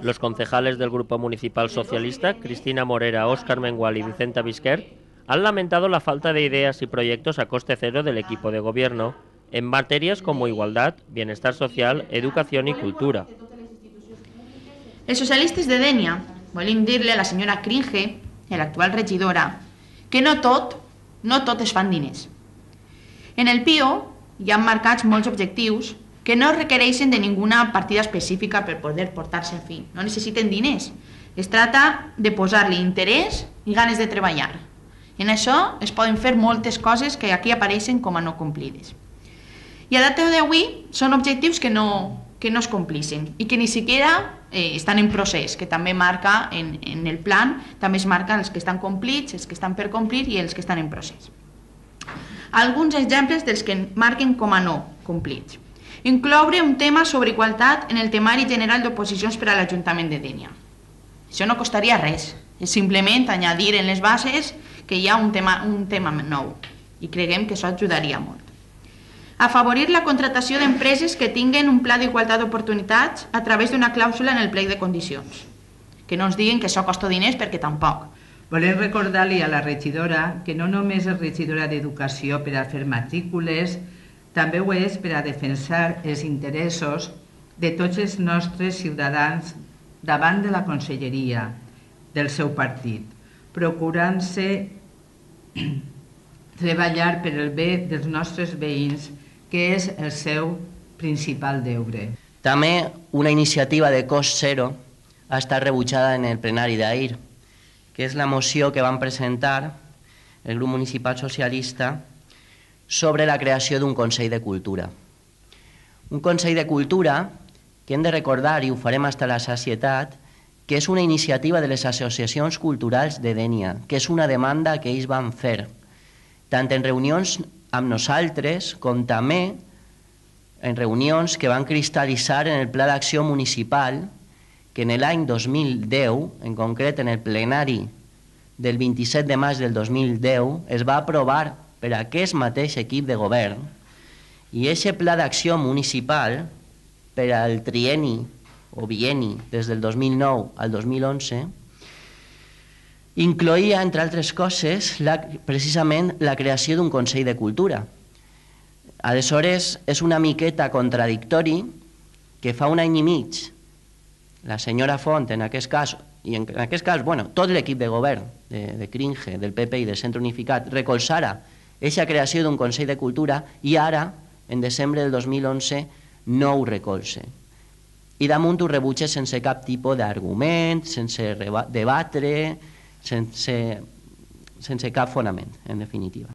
Los concejales del Grupo Municipal Socialista, Cristina Morera, Óscar Mengual y Vicenta Bisquer, han lamentado la falta de ideas y proyectos a coste cero del equipo de gobierno en materias como igualdad, bienestar social, educación y cultura. Els socialistes de Dénia volem dir-li a la senyora Cringe, l'actual regidora, que no tot es fan diners. En el PIO hi han marcats molts objectius que no requereixen de ninguna partida específica per poder portar-se a fi. No necessiten diners. Es tracta de posar-li interès i ganes de treballar. En això es poden fer moltes coses que aquí apareixen com a no complides. I a data d'avui són objectius que no es complixen i que ni siquiera estan en procés, que també marca en el plan, també es marca els que estan complits, els que estan per complir i els que estan en procés. Alguns exemples dels que marquen com a no complits. Incloure un tema sobre igualtat en el temari general d'oposicions per a l'Ajuntament de Dénia. Això no costaria res, és simplement añadir en les bases que hi ha un tema nou i creguem que això ajudaria molt. Afavorir la contratació d'empreses que tinguen un pla d'igualtat d'oportunitats a través d'una clàusula en el plec de condicions. Que no ens diguin que això costa diners perquè tampoc. Volem recordar-li a la regidora que no només és regidora d'Educació per a fer matrícules, també ho és per a defensar els interessos de tots els nostres ciutadans davant de la conselleria del seu partit, procurant-se treballar per el bé dels nostres veïns, que és el seu principal deure. També una iniciativa de cost zero ha estat rebutjada en el plenari d'ahir, que és la moció que van presentar el grup municipal socialista sobre la creació d'un Consell de Cultura. Un Consell de Cultura que hem de recordar, i ho farem fins a la sacietat, que és una iniciativa de les associacions culturals de Dénia, que és una demanda que ells van fer, tant en reunions amb nosaltres com també en reunions que van cristal·litzar en el Pla d'Acció Municipal, que en l'any 2010, en concret en el plenari del 27 de maig del 2010, es va aprovar per aquest mateix equip de govern, i aquest Pla d'Acció Municipal per al trienni o bienni des del 2009 al 2011 incloïa, entre altres coses, precisament la creació d'un Consell de Cultura. Aleshores, és una miqueta contradictori que fa un any i mig la senyora Font, en aquest cas, i en aquest cas, tot l'equip de govern de Cringe, del PP i del Centre Unificat, recolzara aquesta creació d'un Consell de Cultura i ara, en desembre del 2011, no ho recolze. I damunt ho rebutja sense cap tipus d'argument, sense debatre, sense cap fonament, en definitiva.